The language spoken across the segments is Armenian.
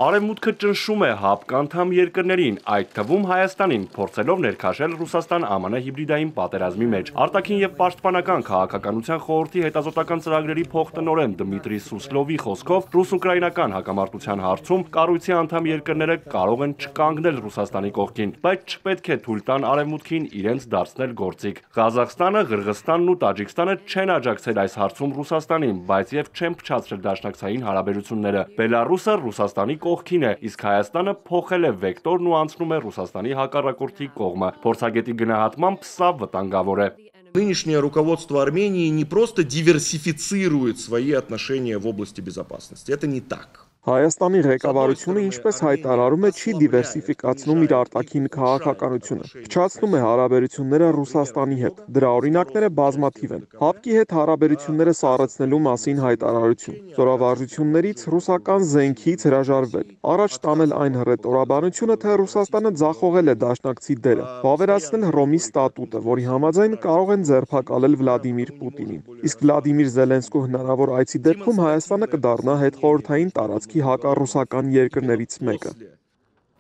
Արևմուտքը ճնշում է ՀԱՊԿ անդամ երկրներին, այդ թվում Հայաստանին, փորձելով ներքաշել Ռուսաստան-ԱՄՆ հիբրիդային պատերազմի մեջ։ Արտաքին եւ պաշտպանական քաղաքականության խորհրդի հետազոտական ծրագրերի փոխտնօրեն Դմիտրի Սուսլովի խոսքով, ռուս-ուկրաինական հակամարտության հարցում կառույցի անդամ երկրները կարող են չկանգնել Ռուսաստանի կողքին, բայց չպետք է թույլ տան Արևմուտքին իրենց դարձնել գործիք։ Ղազախստանը, Ղրղըզստանն ու Տաջիկստանը չեն աջակցել այս հարցում Ռուսաստանին, բայց եւ չեն փչացրել դաշնակցային հարաբերությունները։ Բելարուսը Ռուսաստանի կողքին է, իսկ Հայաստանը փոխել է վեկտորն ու անցնում է Ռուսաստանի հակառակորդի կողմը։ Փորձագետի գնահատմամբ սա վտանգավոր է։ Нынешнее руководство Армении не просто диверсифицирует свои отношения в области безопасности. Это не так. Հայաստանի ղեկավարությունը, ինչպես հայտարարում է, չի դիվերսիֆիկացնում իր արտաքին քաղաքականությունը, փչացնում է հարաբերությունները Ռուսաստանի հետ։ Դրա օրինակները բազմաթիվ են։ ՀԱՊԿ-ի հետ հարաբերությունները սառեցնելու մասին հայտարարություն, զորավարժություններից ռուսական զենքից հրաժարվել, առաջ տանել այն հռետորաբանությունը, թե Ռուսաստանը ձախողել է դաշնակցի դերը, վավերացնել Հռոմի ստատուտը, որի համաձայն կարող են ձերբակալել Վլադիմիր Պուտինին։ Իսկ Վլադիմիր Զելենսկու հնարավոր այցի դեպքում Հայաստանը կդառնա հետխորհրդային տարածքի հակառուսական երկրներից մեկը։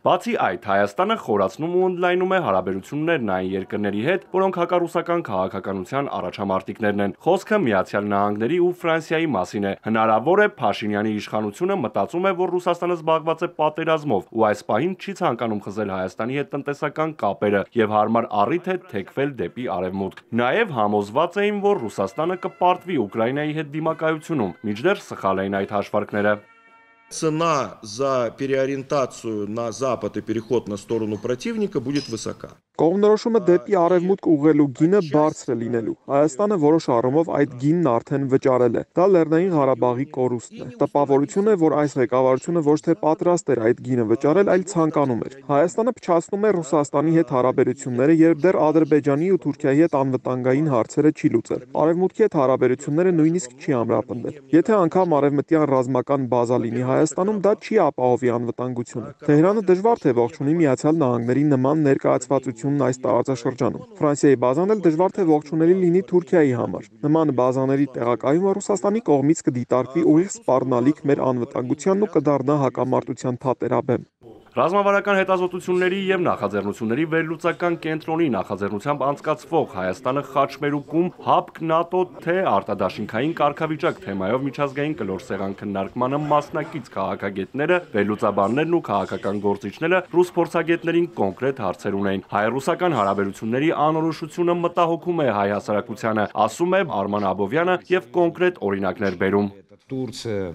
Բացի այդ, Հայաստանը խորացնում ու ընդլայնում է հարաբերություններն այն երկրների հետ, որոնք հակառուսական քաղաքականության առաջամարտիկներն են։ Խոսքը Միացյալ Նահանգների ու Ֆրանսիայի մասին է։ Հնարավոր է Փաշինյանի իշխանությունը մտածում է, որ Ռուսաստանը զբաղված է պատերազմով ու այս պահին չի ցանկանում խզել Հայաստանի հետ տնտեսական կապերը եւ հարմար առիթ է թեքվել դեպի արևմուտք։ Նաեւ համոզված էին, որ Ռուսաստանը կպարտվի Ուկրաինայի հետ դիմակայությունում, մինչդեռ սխալ էին այդ հաշվարկները։ Цена за переориентацию на Запад и переход на сторону противника будет высока. Կողմնորոշումը դեպի արևմուտք ուղղելու գինը բարձր է լինելու։ Հայաստանը որոշ առումով այդ գինն արդեն վճարել է։ Դա Լեռնային Ղարաբաղի կորուստն է։ Տպավորություն է, որ այս ղեկավարությունը ոչ թե պատրաստ էր այդ գինը վճարել, այլ ցանկանում էր։ Հայաստանը փչացնում է Ռուսաստանի հետ հարաբերությունները, երբ դեռ Ադրբեջանի ու Թուրքիայի հետ անվտանգային հարցերը չի լուծել։ Արևմուտքի հետ հարաբերությունները նույնիսկ չի ամրապնդել։ Եթե անգամ արևմտյան ռազմական բազա լինի Հայաստանում, դա չի ապահովի անվտանգությունը։ Թեհրանը դժվար թե ողջունի Միացյալ Նահանգների նման ներկայացվածություն այս տարածաշրջանում։ Ֆրանսիայի բազան էլ դժվար թե ողջունելի լինի Թուրքիայի համար։ Նման բազաների տեղակայումը Ռուսաստանի կողմից կդիտարկվի ուղիղ սպառնալիք մեր անվտանգությանն ու կդառնա հակամարտության թատերաբեմ։ Ռազմավարական հետազոտությունների եւ նախաձեռնությունների վերլուծական կենտրոնի նախաձեռնությամբ անցկացվող Հայաստանը խաչմերուկում ՀԱՊԿ ՆԱՏՕ թե արտադաշինքային կարգավիճակ թեմայով միջազգային կլոր սեղան քննարկմանը մասնակից քաղաքագետները, վերլուծաբաններն ու քաղաքական գործիչները ռուս փորձագետներին կոնկրետ հարցեր ունեն։ Հայ-ռուսական հարաբերությունների անորոշությունը մտահոգում է հայ հասարակությանը, ասում է Արման Աբովյանը եւ կոնկրետ օրինակներ բերում։ Турция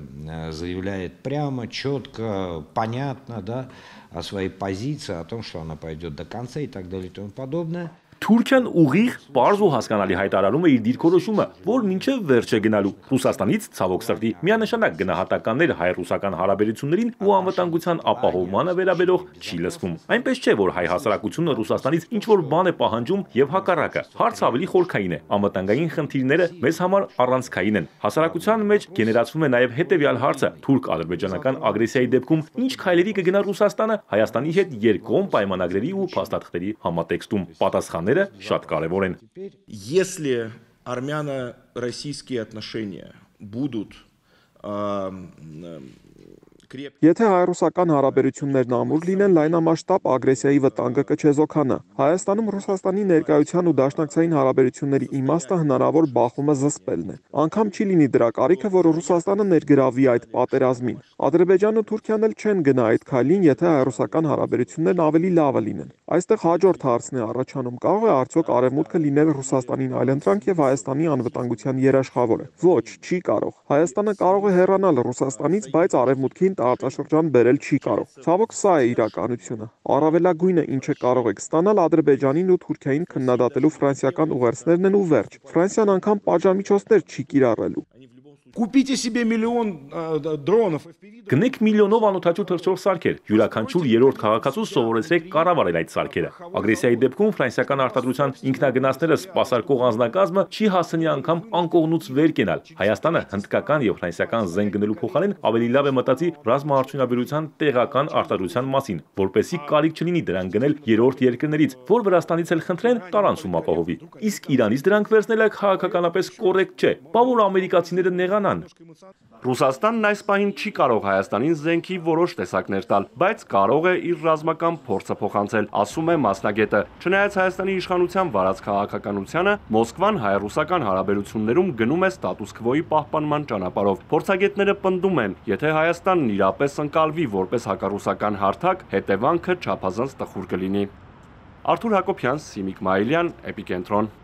заявляет прямо, четко, понятно, да, о своей позиции, о том, что она пойдет до конца и так далее и тому подобное. Թուրքիան ուղիղ, պարզ ու հասկանալի հայտարարում է իր դիրքորոշումը, որ մինչև վերջ է գնալու։ Ռուսաստանից ցավոք սրտի միանշանակ գնահատականներ հայ-ռուսական հարաբերություններին ու անվտանգության ապահովմանը վերաբերող չի լսվում։ Այնպես չէ, որ հայ հասարակությունը Ռուսաստանից ինչ-որ բան է պահանջում եւ հակառակը։ Հարցը ավելի խորքային է։ Անվտանգային խնդիրները մեզ համար առանցքային են։ Հասարակության մեջ գեներացվում է նաեւ հետեւյալ հարցը. թուրք-ադրբեջանական ագրեսիայի դեպքում ինչ քայլերի կգնա Ռուսաստանը Հայաստանի հետ երկկողմ պայմանագրերի ու փաստաթղթերի համատեքստում։ Պատասխանները շատ կարևոր են։ Если армяно-российские отношения будут Եթե հայ-ռուսական հարաբերություններն ամուր լինեն, լայնամասշտաբ ագրեսիայի վտանգը կչեզոքանա։ Հայաստանում Ռուսաստանի ներկայության ու դաշնակցային հարաբերությունների իմաստը հնարավոր բախումը զսպելն է։ Անգամ չի լինի դրա կարիքը, որ Ռուսաստանը ներգրավի այդ պատերազմին։ Ադրբեջանն ու Թուրքիան էլ չեն գնա այդ քայլին, եթե հայ-ռուսական հարաբերություններն ավելի լավը լինեն։ Այստեղ հաջորդ հարցն է առաջանում. կարող է արդյոք Արևմուտքը լինել Ռուսաստանին այլընտրանք եւ Հայաստանի անվտանգության երաշխավորը։ Ոչ, չի կարող։ Հայաստանը կարող է հեռանալ Ռուսաստանից, բայց Արևմուտքին տարածաշրջան բերել չի կարող։ Ցավոք սա է իրականությունը։ Առավելագույնը ինչը կարող եք ստանալ Ադրբեջանին ու Թուրքիային քննադատելու ֆրանսիական ուղերձներն են ու վերջ։ Ֆրանսիան անգամ պատժամիջոցներ չի կիրառելու։ Купите себе миллион дронов. Գնեք միլիոնով անօթաչու թռչող սարքեր, յուրաքանչյուր երրորդ քաղաքացու սովորեցրեք կառավարել այդ սարքերը։ Ագրեսիայի դեպքում ֆրանսիական արտադրության ինքնագնացները սպասարկող անձնակազմը չի հասցնի անգամ անկողնուց վեր կենալ։ Հայաստանը հնդկական եւ ֆրանսիական զենք գնելու փոխարեն ավելի լավ է մտածի ռազմաարդյունաբերության տեղական արտադրության մասին, որպեսզի կարիք չլինի դրան գնել երրորդ երկրներից, որ Վրաստանից էլ խնդրեն տարանցում ապահովի։ Իսկ Իրանից դրանք վերցնելը քաղաքականապես կոռեկտ չէ։ Բա որ ամերիկացիները նեղանան։ Ռուսաստանն այս պահին չի կարող Հայաստանին զենքի որոշ տեսակներ տալ, բայց կարող է իր ռազմական փորձը փոխանցել, ասում է մասնագետը։ Չնայած Հայաստանի իշխանության վարած քաղաքականությանը, Մոսկվան հայ-ռուսական հարաբերություններում գնում է ստատուս քվոյի պահպանման ճանապարհով։ Փորձագետները պնդում են, եթե Հայաստանն իրապես ընկալվի որպես հակառուսական հարթակ, հետևանքը չափազանց տխուր կլինի։ Արթուր Հակոբյան, Սիմիկ Մայիլյան, Էպիկենտրոն։